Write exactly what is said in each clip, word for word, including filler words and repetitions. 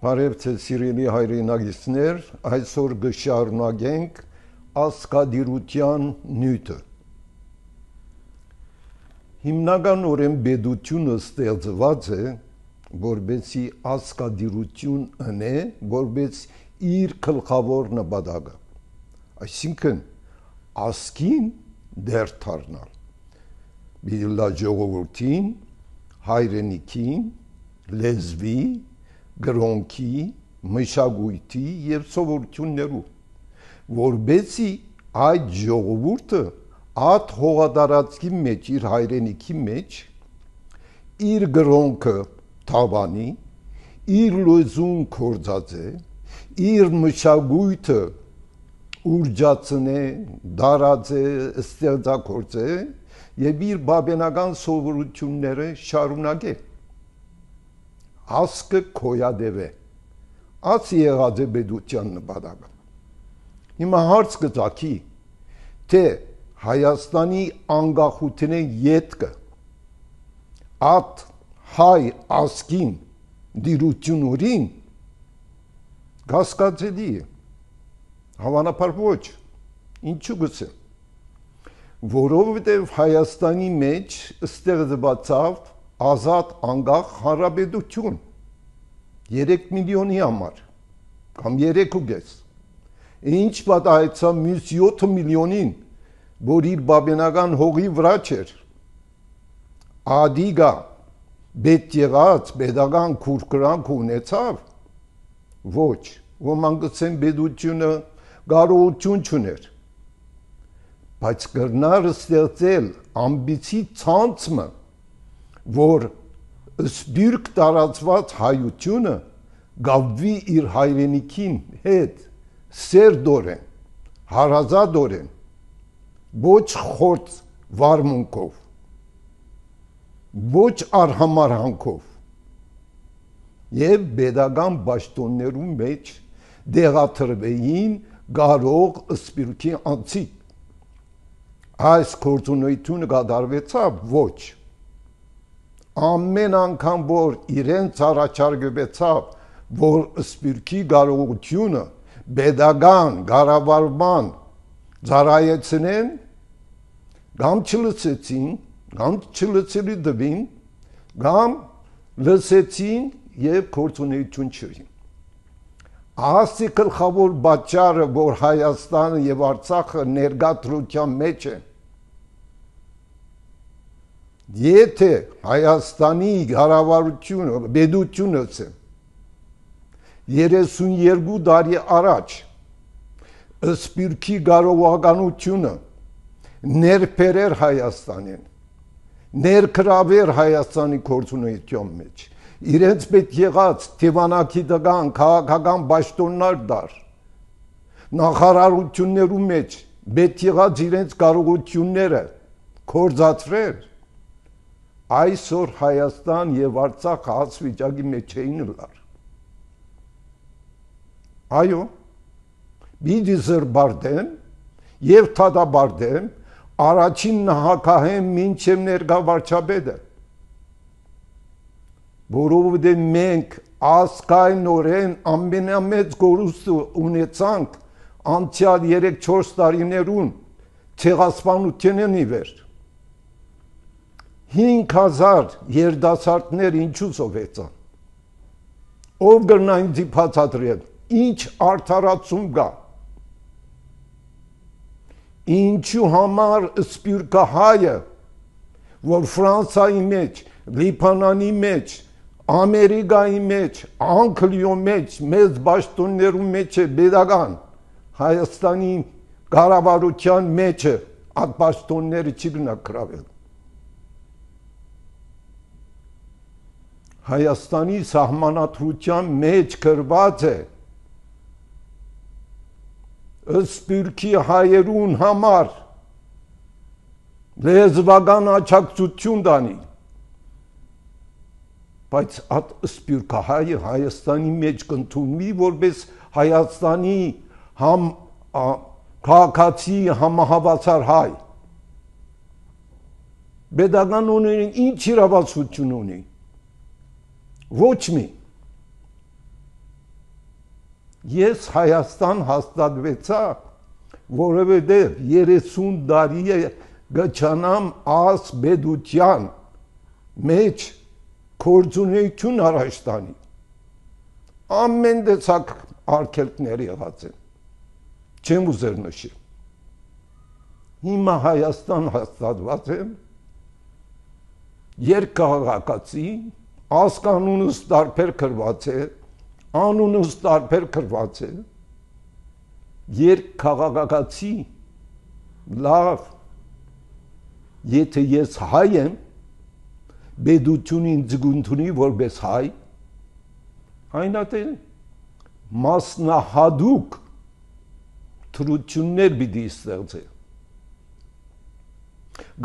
Բարև ձեզ սիրելի հայրենագիտներ, այսօր կշարունակենք ազգադիրության նյութը։ Հիմնականորեն պետությունը ստեղծված է, որպեսզի ազգադիրություն ունե, որպես իր գլխավոր նպատակը, այսինքն ազգին դեր դառնալ, բիլա ժողովրդին, հայրենիքին, լեզվի, գրոնքի, մշակույթի և սովորություններու, որպեսզի այդ ժողովուրդը այդ հողատարածքի մեջ, իր հայրենիքի մեջ, իր գրոնքը թավանի, իր լեզուն գործածե, իր մշակույթը ուրջացնե, դարածե, ստեղծագործե և իր բաբենական սովորությունները շարունակե։ Ազգը գոյատևե, այս եղած է պետության նպատակը։ Հիմա հարց կծագի, թե Հայաստանի անկախության ետքը այդ հայ ազգին դիրությունորին կասկածելի է, հավանաբար ոչ, ինչու գսեմ, որովհետև Հայաստանի մեջ ստեղծվեցավ ազատ անկախ հանրապետություն երեք միլիոնի համար կամ երեք ու կես, ինչ պատահեցավ մյուս յոթ միլիոնին, որ իր բաբենական հողի վրա չէր, ադիգա պետք եղած պետական քուրքրանք ունեցավ, ոչ, ոմանք կսեն պետությունը կարողություն չուներ, բայց կրնար ստեղծել ամբիցի ցանցը, որ սպիրկ տարածված հայությունը գավվի իր հայրենիքին հետ սերտորեն, հարազատորեն, ոչ խորտ վարմունքով, ոչ արհամարհանքով և պետական պաշտոններու մեջ դեղաթրվեին կարող սպիրկի անցիկ։ Այս գործունեությունը կատարվեցավ ոչ։ Ամեն անգամ, որ իրենց առաջարկվեցավ, որ սպիրկի կարողությունը պետական կառավարման ծառայեցնեն, կամ չլսեցին, կամ չլսելի տվին, կամ լսեցին և գործունեություն չրին։ Ասի գլխավոր պատճառը, որ Հայաստանը և Արցախը ներկա դրության մեջ է, եթե Հայաստանի կառավարությունը, պետությունը երեսունյերկու տարի առաջ սպիրկի կարողականությունը ներբերեր Հայաստանին, ներգրավեր Հայաստանի գործունեության մեջ, իրենց պետք եղած դիվանագիտական, քաղաքական պաշտոններ դար, նախարարություններու մեջ պետք եղած իրենց կարողությունները գործածվեր, այսօր Հայաստան և Արցախ այս վիճակի մեջ չէին լար։ Այո, պիտի զրբարտեն և դատապարտեն առաջին նահանգահեն մինչև ներկա վարչապետը, որովհետև մենք ազգայնորեն ամենամեծ կորուստը ունեցանք անցյալ երեք-չորս տարիներուն ցեղասպանությունն ի վեր։ հինգ հազար երիտասարդներ ինչու սովեցան։ Ով կրնա ինձ բացատրել, ինչ արդարացում կա։ Ինչու համար սպիրկահայը, որ Ֆրանսայի մեջ, Լիբանանի մեջ, Ամերիկայի մեջ, Անգլիոյ մեջ, մեծ պաշտոններու մեջ է պետական, Հայաստանի կառավարության մեջ է, այդ պաշտոնները չի գնա գրավել։ Հայաստանի սահմանադրության մեջ գրված է սպիրկի հայերուն համար լեզվական աջակցություն տանի, բայց այդ սպիրկահայը Հայաստանի մեջ կընդունվի որպես Հայաստանի համ քաղաքացի համահավասար հայ։ Պետական ունեն ինչ իրավասություն ունի։ Ոչ մի։ Ես Հայաստան հաստատվեցա, որովհետև երեսուն տարի է գճանամ աս բեդության մեջ գործունեություն առաջ տանի։ Ամեն տեսակ արգելքներ եղած են, չեմ ուզեր նշել։ Հիմա Հայաստան հաստատված եմ, երկքաղաքացի, ազգանունս տարբեր կրված է, անունս տարբեր կրված է, երկքաղաքացի, լավ, եթե ես հայ եմ, բեդությունին ձգունթունի որպես հայ, այնատե մասնահատուկ թրություններ պիտի ստեղծե,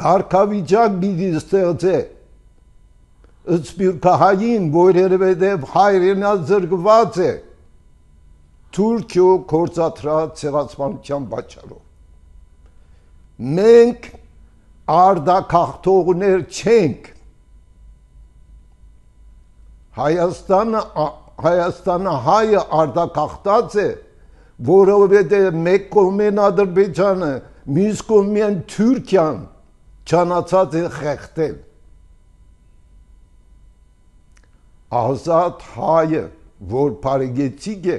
կարգավիճակ պիտի ստեղծե, սփյուռքահային, որովհետև հայրենազրկված է Թուրքիո գործադրած ցեղասպանության պատճառով։ Մենք արտագաղթողներ չենք։ Հայաստանը Հայաստանը հայը արտագաղթած է, որովհետև մեկ կողմեն Ադրբեջանը, մյուս կողմեն Թուրքիան չանացած է խեղդել։ Ազատ հայը, որ բարեգեցիկ է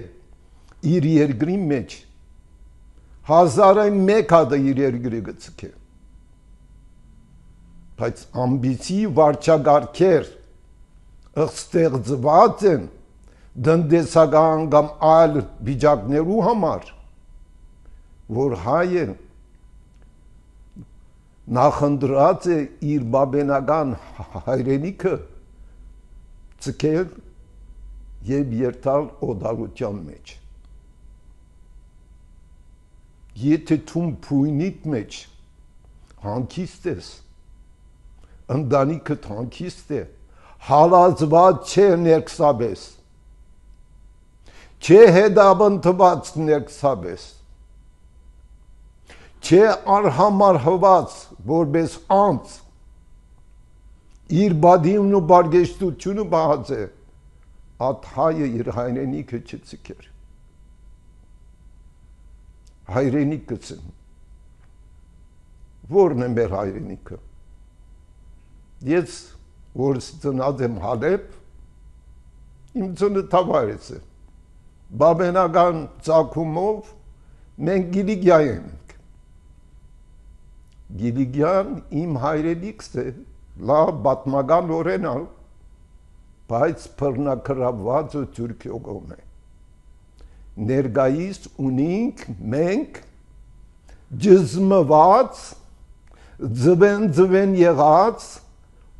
իր երկրի մեջ, հազարը մեկ հատը իր երկրի գցիկ է, բայց ամբիցի վարչագարքեր ստեղծված են տնտեսական կամ այլ վիճակներու համար, որ հայը նախընտրած է իր բաբենական հայրենիքը ցկել եւ երթալ օդալության մեջ։ Եթե թում փույնիտ մեջ հանգիստ ես, ընտանիքդ հանգիստ է, հալածված չէ ներքսաբես, չէ հետապնդված ներքսաբես, չէ արհամարհված որպես անձ, իր բադիմն ու բարգեշտությունը բահած է, at հայը իր հայրենիքը չցկեր։ Հայրենիքս եմ, որն է մեր հայրենիքը։ Ես, որ ծնած եմ Հալեբ, իմ ծննդավայրս է, բաբենական ծագումով մենք Գիլիգիա ենք։ Գիլիգիան իմ հայրենիքս է, լավ պատմական օրենալ, բայց բռնակրաված ու Թուրքիո կողմ է։ Ներկայիս ունենք մենք ջզմված, ձվեն-ձվեն եղած,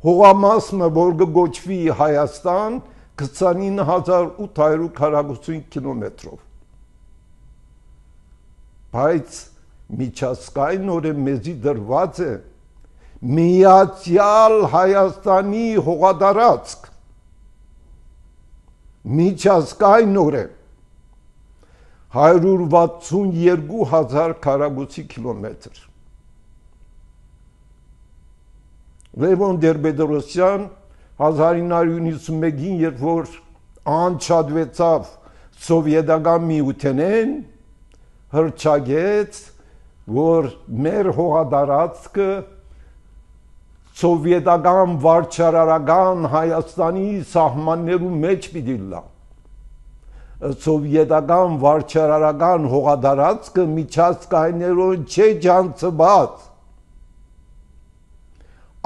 հողամասը, որ կգոչվի Հայաստան, քսանինը հազար ութ հարյուր քառակուսին կիլոմետրով։ Բայց միջազգայինորեն մեզի դրված է Միացյալ Հայաստանի հողատարածք, միջազգայինորեն հարյուր վաթսունյոթ հազար քառակուսի կիլոմետր։ Լևոն Տեր-Պետրոսյան հազար ինը հարյուր նվաթսունմեկին, երբ որ անջատվեցավ սովետական միութենեն, հռչակեց, որ մեր հողատարածքը սովետական վարչարարական Հայաստանի սահմաններու մեջ պիտի լա։ Սովետական վարչարարական հողատարածքը միջազգայիներուն չէ ջանցված,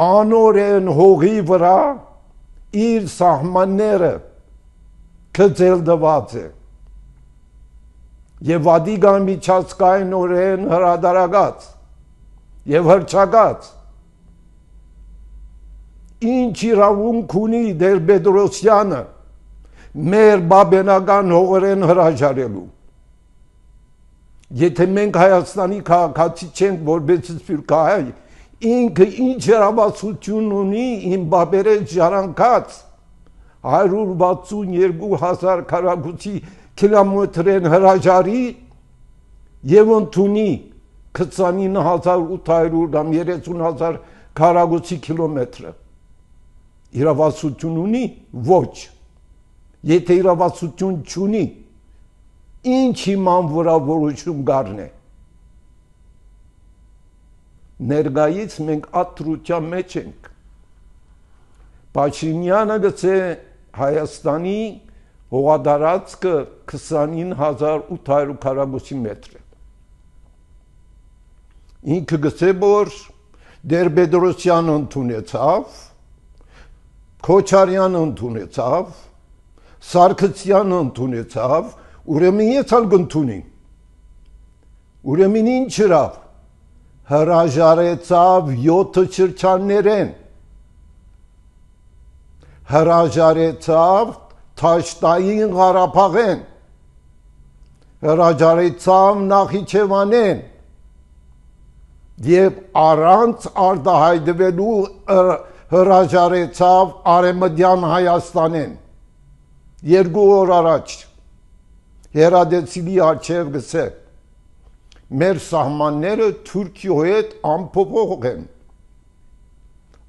անորեն հողի վրա իր սահմանները կձելդված է եւ վադիգան միջազգայինորեն հրադարագած եւ հրճակած։ Ինչ իրավունք ունի Տեր-Պետրոսյանը մեր բաբենական հողերեն հրաժարելու։ Եթե մենք Հայաստանի քաղաքացի չենք, որպես սփյուռքահայ, ինքը ինչ հրավասություն ունի իմ բաբերեն ժառանգած հարյուր վաթսունյոթ հազար քառակուսի կիլոմետրեն հրաժարի եւ ընդունի քսանինը հազար ութ հարյուր կամ երեսուն հազար քառակուսի կիլոմետրը։ Իրավասություն ունի, ոչ։ Եթե իրավասություն չունի, ինչ իման վրա որոշում գարն է։ Ներգայից մենք աթրության մեջ ենք։ Փաշինյանը գցե Հայաստանի հողատարածքը քսանինը հազար ութ հարյուր քառակուսի մետր է։ Ինքը գցե որ Տեր-Պետրոսյանը ընդունեցավ, Քոչարյանը ընդունեցավ, Սարգսյանը ընդունեցավ, ուրեմն ես ալ կընդունի։ Ուրեմն ինչ հրավ, հրաժարեցավ յոթ շրջաններեն, հրաժարեցավ Թաշտային Ղարաբաղեն, հրաժարեցավ Նախիջևանեն և առանց արտահայտվելու հրաժարեցավ Արևմտյան Հայաստանեն։ Երկու օր առաջ հերադեցիլի առջև գսե մեր սահմանները Թուրքիո հետ անփոփոխ են։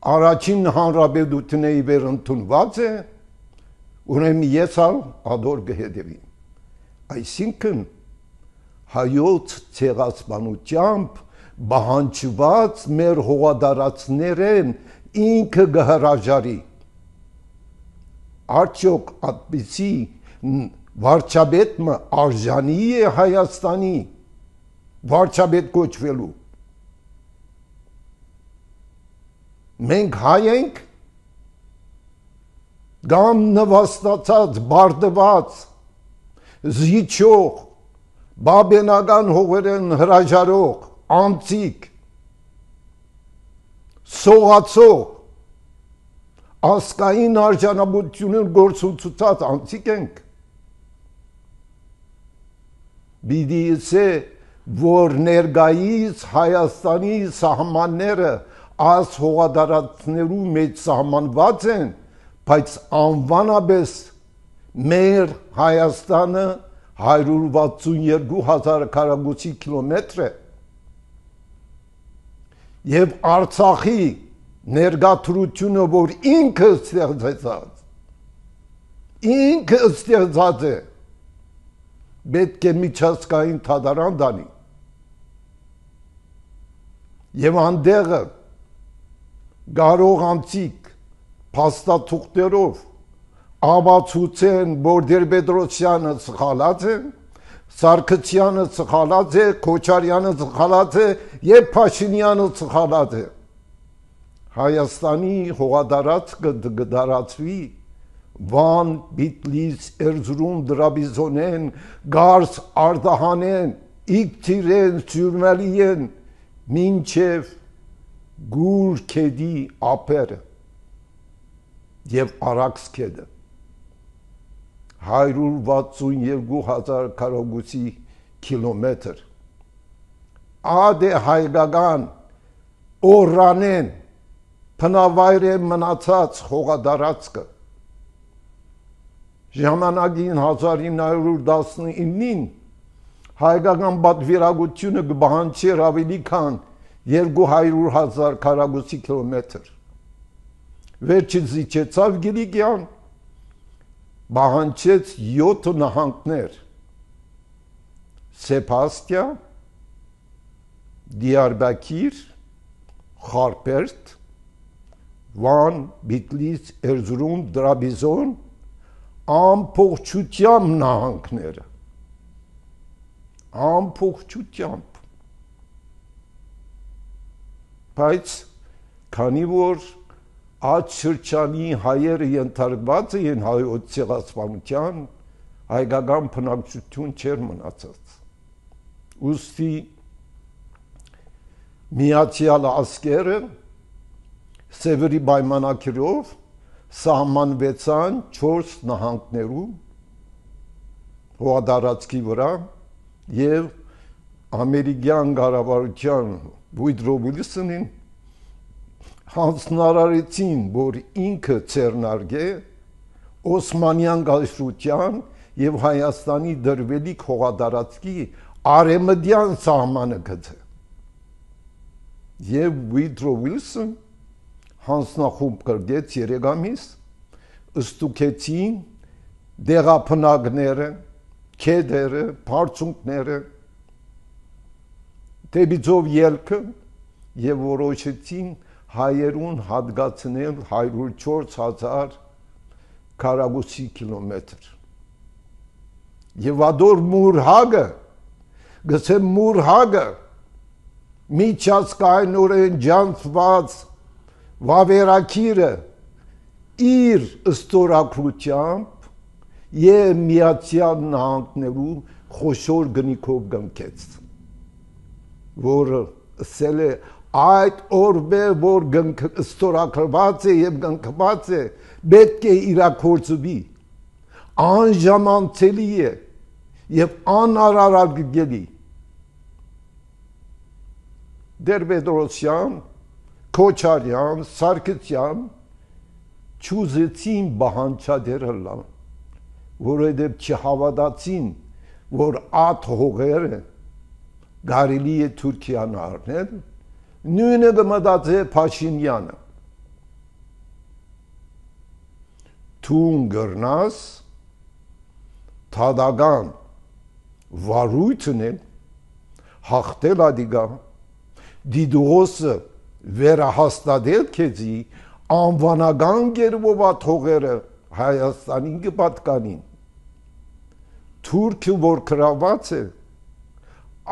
Առաջին հանրապետությունների վեր ընդունված է, ուրեմն ես ալ ադոր կհետևեմ։ Այսինքն հայոց ցեղասպանությամբ բանջված մեր հողատարածքներեն ինքը կհրաժարի։ Արդյոք այդպիսի վարչապետը արժանի է Հայաստանի վարչապետ կոչվելու։ Մենք հայ ենք, կամ նվաստացած, բարդված, զիջող, բաբենական հողերեն հրաժարող, անցիկ, սողացող, ասկային արժանապատվությունն գործունեացած անցիկ ենք։ Պիտի ասե, որ ներկայիս Հայաստանի սահմանները այս հողատարածքներու մեջ սահմանված են, բայց անվանաբես մեր Հայաստանը հարյուր վաթսունյոթ հազար քառակուսի կիլոմետր է և Արցախի ներկայությունը, որ ինքը ստեղծած, ինքը ստեղծած է, պետք է միջազգային դատարան տանի և անդեղը կարող անցիկ փաստաթուղթերով ապացուցեն, որ Տեր-Պետրոսյանը սխալած է, Սարգսյանը սխալած է, Քոչարյանը սխալած է և Փաշինյանը սխալած է։ Հայաստանի հողատարածքը կդարածվի Վան, Բիտլիս, Էրզրում, Դրաբիզոնեն, Գարս, Արդահանեն, Իգթիրեն, Սյուրմալիեն, մինչև Գուր քեդի ափերը և Արաքս քեդը հարյուր վաթսունյոթ հազար քառակուսի կիլոմետր ադե հայկական օրանեն փնավայր է մնացած հողատարածքը ժամանակին հազար ինը հարյուր տասնինին հայկական պատվիրակությունը կպահանջեր ավելի քան երկու հարյուր հազար քառակուսի կիլոմետր։ Վերջից զիջեցավ Գիլիգյան, պահանջեց յոթ նահանգներ՝ Սեփաստիա, Դիարբաքիր, Խարպերտ, Վան, Բիտլիս, Էրզրում, Դրաբիզոն, ամբողջությամբ նահանգները, ամբողջությամբ։ Բայց քանի որ այդ շրջանի հայերը ենթարկված էին հայոց ցեղասպանության, հայկական բնակչություն չէր մնացած։ Ուստի Միացյալ Աշխարհը Սևերի պայմանագրով սահմանվեցան չորս նահանգներում հողատարածքի վրա և ամերիկյան կառավարության Վուդրո Վիլսոնին հանձնարարեցին, որ ինքը ձեռնարկե Օսմանյան կայսրության և Հայաստանի դրվելիք հողատարածքի արևմտյան սահմանը գծե։ Եվ Վուդրո Վիլսոն հանձնախումբ կրկեց երեք ամիս, ստուգեցին դեղափնակները, քեդերը, բարձունքները դեպիցով ելքը եւ որոշեցին հայերուն հատկացնել հարյուր չորս հազար քառակուսի կիլոմետր եւ ադոր մուրհագը գսեմ մուրհագը միջազգայինորեն ջանցված վավերակիրը իր ստորագրությամբ եւ Միացյալ Նահանգներու խոշոր գնիքով գնքեց որը ասել է այդ օրվե որ ստորագրված է եւ գնքված է պետք է իրակորձվի անժամանցելի է եւ անարարագելի Դերբեդրոսյան, Քոչարյան, Սարգսյան չուզեցին բանջարերը լան, որովհետև չհավատացին, որ այդ հողերը կարելի է Թուրքիան առնել, նույնը կմտածե Փաշինյանը։ Թուն գրնաս թադական վարույթն է հաղթել ադիգա դիդուոսը վերահաստատել քեզի անվանական գերվով աթողերը Հայաստանին կպատկանին Թուրքը որ գրաված է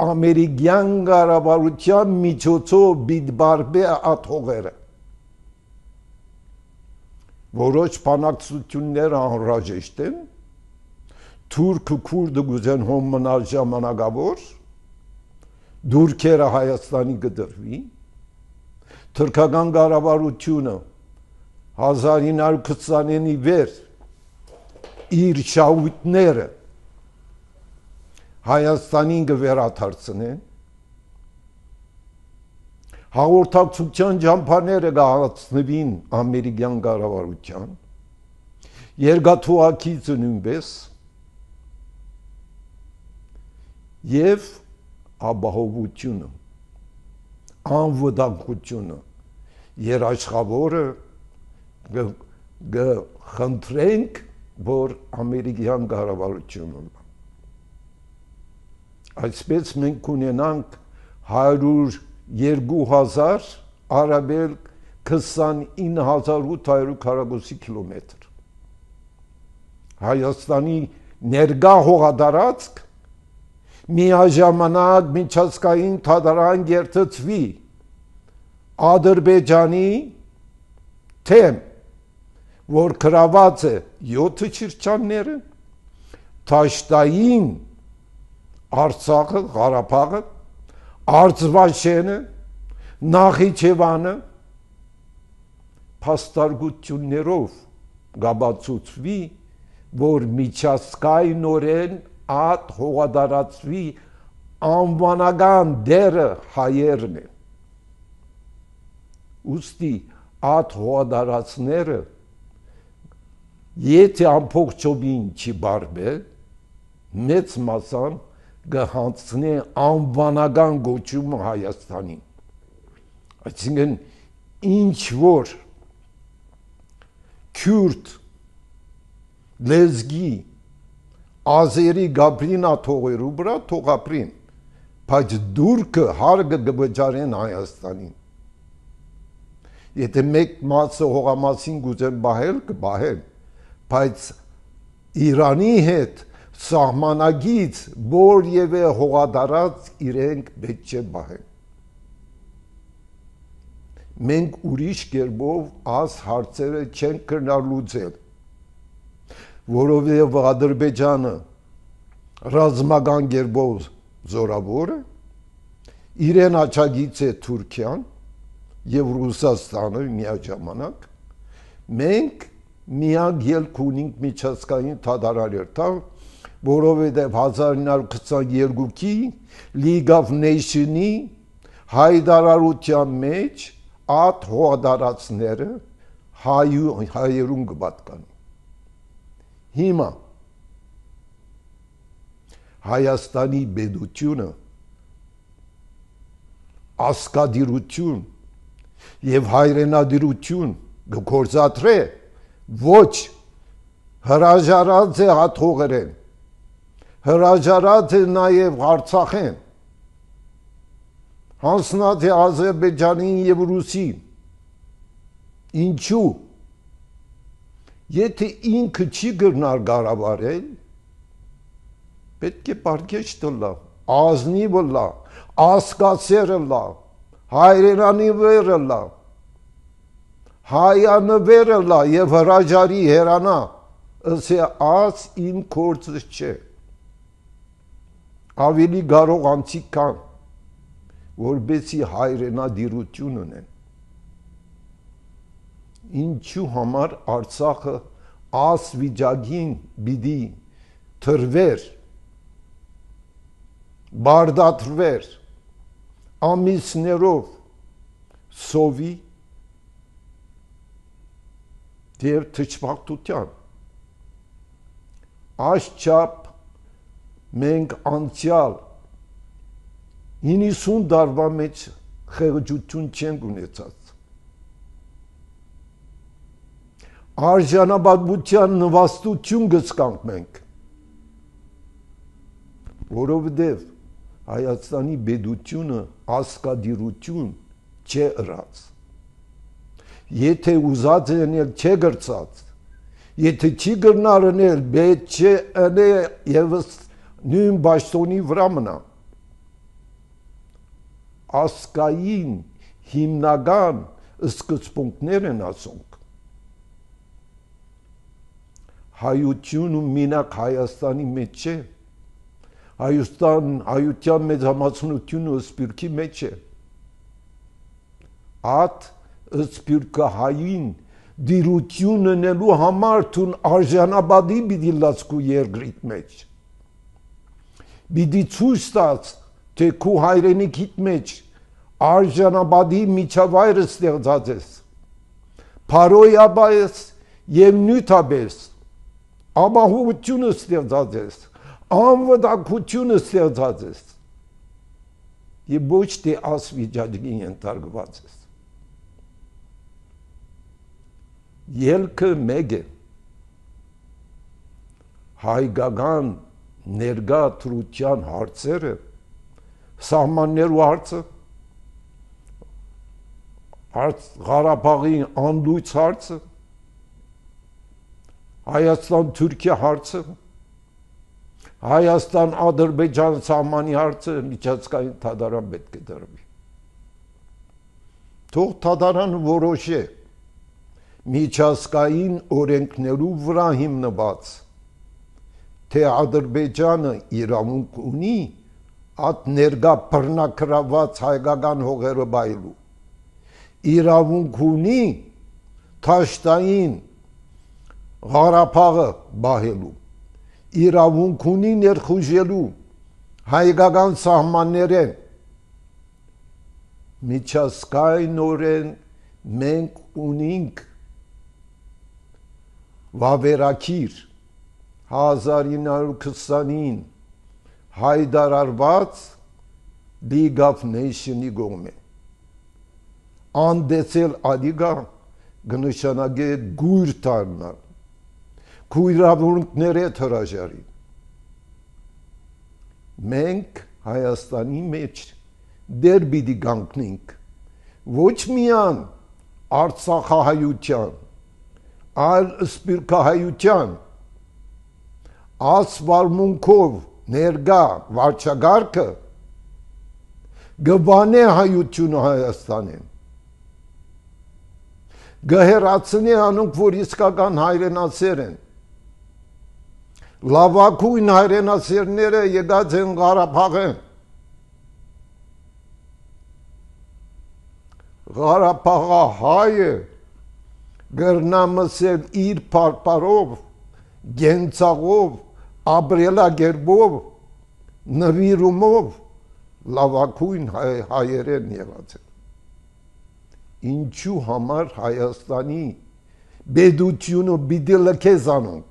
ամերիկյան կառավարության միջոցով բիդբարբե աթողերը որոշ բանակցություններ անհրաժեշտ են Թուրքը քուրդը գուզեն հոմ մնալ ժամանակավոր դուրքերը Հայաստանի կդրվի թուրքական կառավարությունը հազար ինը հարյուր քսանինի վեր իր շահույթները Հայաստանին կվերադարձնեն հաղորդակցության ճամփաները կհասնվին ամերիկյան կառավարության երկաթուղակիցը նույնպես եւ ապահովությունը անվտանգությունը երաշխավորը կխնդրենք որ ամերիկյան կառավարությունը այսպես մենք ունենանք հարյուր երկու հազար արաբել քսանինը հազար ութ հարյուր քառակուսի կիլոմետր Հայաստանի ներկա հողատարածք միաժամանակ միջազգային թադարան երթծվի Ադրբեջանի թեմ որ գրաված է յոթ շրջանները Թաշտային Արցախը, Ղարաբաղը, Արցվաշենը, Նախիջևանը փաստարկություններով գաբացուցվի, որ միջազգայինորեն այդ հողատարածքի անվանական դերը հայերն են։ Ուստի այդ հողատարածքները եթե ամբողջովին չբարբե, մեծ մասան գհանցնե անվանական գոչումը Հայաստանին։ Այսինքն ինչ որ քյուրդ լեզգի ազերի գաբրինա թողերու վրա թողապրին, բայց դուրքը հարգը գբջարեն Հայաստանին։ Եթե մեկ մասը հողամասին գուզեն բահել, կբահեն, բայց Իրանի հետ սահմանագից որևէ հողատարած իրենք պետք չէ բահեն։ Մենք ուրիշ կերպով այս հարցերը չենք կրնար լուծել, որովհետև Ադրբեջանը ռազմական կերպով զորավոր է, իրեն աջակից է Թուրքիան եւ Ռուսաստանը միաժամանակ, մենք միակ ելք ունենք միջազգային թադարարերթալ, որովհետև հազար ինը հարյուր քսաներկուի League of Nations-ի հայտարարության մեջ այդ հողատարածքները հայերուն կպատկանի։ Հիմա Հայաստանի պետությունը ասկադիրություն եւ հայրենադիրություն գործադրե ոչ հրաժարած է հաթողերեն, հրաժարած է նաև Արցախեն, հանձնած է Ադրբեջանին և Ռուսին։ Ինչու՞։ Եթե ինքը չի գրնար գարավարել, պետք է պարկեշ տլա, ազնիվը լա, ասկասերը լա, հայրենանիվերը լա, հայանվերը լա և հրաժարի հերանա, ըսե աս իմ կործը չէ։ Ավելի գարող անցիկ կան, որբեսի հայրենադիրություն ունեն։ Ինչու համար Արցախը աս վիճակին բիդի թրվեր, բարդաթրվեր, ամիսներով սովի և թճվաղտության։ Աշխապ մենք անցյալ հինգսուն դարվա մեջ խեղճություն չենք ունեցած։ Արժանապատվության նվաստություն գցկանք մենք, որովհետև Հայաստանի պետությունը ասկադիրություն չէ ըրած։ Եթե ուզած է ընել չէ գրծած, եթե չի գրնար ընել, պետք չէ ընե ևս նույն բաշտոնի վրա մնա։ Ասկային հիմնական սկզբունքներ են ասոնք։ Հայությունը մենակ Հայաստանի մեջ չէ, Հայաստան, հայության մեծամասնությունը սփյուռքի մեջ է։ Այդ սփյուռքահային դիրություն ունելու համար թուն արժանապատի պիտի լացկու երկրիդ մեջ։ Պիտի ցույց տաս, թե քու հայրենիքիդ մեջ արժանապատի միջավայրը ստեղծած ես, փարոյաբայես և նյութաբես, ապահովությունը ստեղծած ես, անվտանգությունը ստեղծած ես և ոչ թե աս վիճակի ենթարկված ես։ Ելքը մեկ է, հայկական ներկա թրության հարցերը, սահմաններու հարցը, Ղարաբաղի անլույց հարցը, Հայաստան-Թուրքիա հարցը, Հայաստան-Ադրբեջան սահմանի հարցը միջազգային դատարան պետք է դրվի։ Թող դատարանը որոշե միջազգային օրենքներու վրա հիմնված, թե Ադրբեջանը իրավունք ունի այդ ներկա բռնակրաված հայկական հողերը բայելու, իրավունք ունի Թաշտային Ղարաբաղը բահելու, իրավունք ունի ներխուժելու հայկական սահմաններեն։ Միջազգայինորեն մենք ունենք վավերագիր հազար ինը հարյուր քսանին հայտարարված League of Nations-ի կողմէ։ Անդեցել ադիգա կնշանակե գույր դառնալ, քույրավունքները հրաժարի։ Մենք Հայաստանի մեջ դեր պիտի կանգնենք ոչ միայն արցախահայության, այլ սփյուռքահայության ասվարմունքով ներկա վարչագարկը գվանե հայությունը Հայաստանին, գհեռացնի անոնք, որ իսկական հայրենասեր են, լավագույն հայրենասերները եկած են Ղարաբաղեն, Ղարաբաղահայը գրնամսել իր պարպարով, գենցաղով, ապրելագերբով, նվիրումով լավագույն հայերեն եղած են։ Ինչու համար Հայաստանի պետությունը պիտի լքե զանոնք,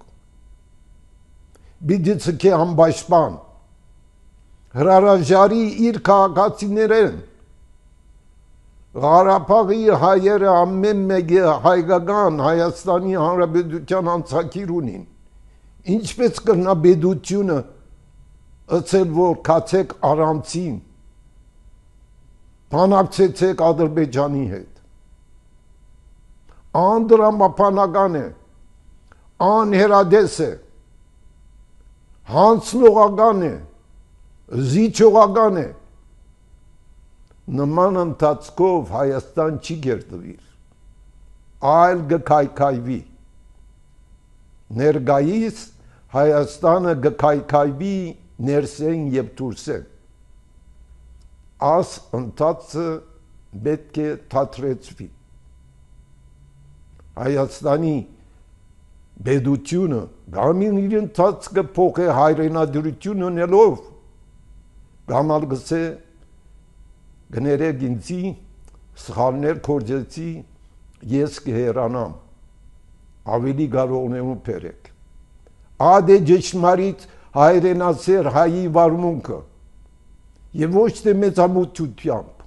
պիտի ցկե անպաշտպան, հրաժարի իր քաղաքացիներեն, Ղարաբաղի հայերը ամեն մեկը հայկական Հայաստանի Հանրապետության անցակիր ունին, ինչպես կրնա պետությունը ըցել որ կացեք առամցին, բանակցեցեք Ադրբեջանի հետ, անդրամապանական է, անհերադես է, հանցնողական է, զիջողական է, նման ընթացքով Հայաստան չի գերտվիր, այլ գքայքայվի, ներգայիս Հայաստանը գքայքայվի ներսեն և դուրսեն, աս ընթացը պետք է թատրեցվի, Հայաստանի բեդությունը գամին իր ընթացքը փոխ է հայրենադրություն ունելով, գամալ գսե գներեք ինձի, սխալներ կործեցի, ես կհերանամ, ավելի գարողնեմու պերեք, اد جشنمارید հայրենասեր հայի վարմունքը և ոչ թե մեծամտությամբ,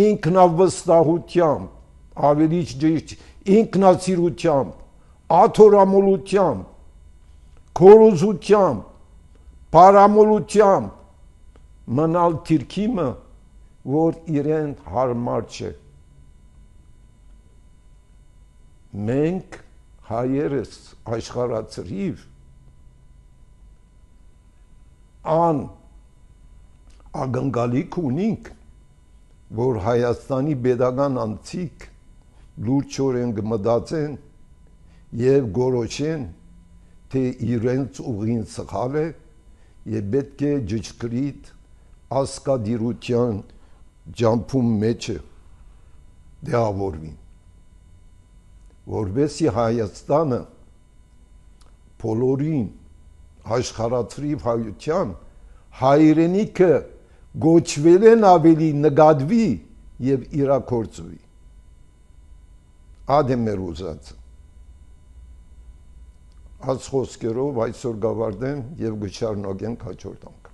ինքնավստահությամբ, ավելի ճիշտ ինքնասիրությամբ, աթոռամոլությամբ, քորոզությամբ, պարամոլությամբ մնալ թիրքիմը, որ իրեն հարմար չէ։ Մենք հայերս աշխարհացրիվ ան ագնգալիք ունինք, որ Հայաստանի պետական անձիկ լուրջորեն կմտածեն և գորոշեն, թե իրենց ուղին սխալ է և պետք է ճշգրիտ ասկադիրության ջամփում մեջը դեղավորվին, որովհետեւ Հայաստանը բոլորին աշխարհացրիվ հայության հայրենիքը գոչվելեն ավելի նկատվի և իրագործվի։ Ադե մեր ուզածը։ Այս խոսքերով այսօր գավարտեմ և գշարունակենք հաջորդ անգամ։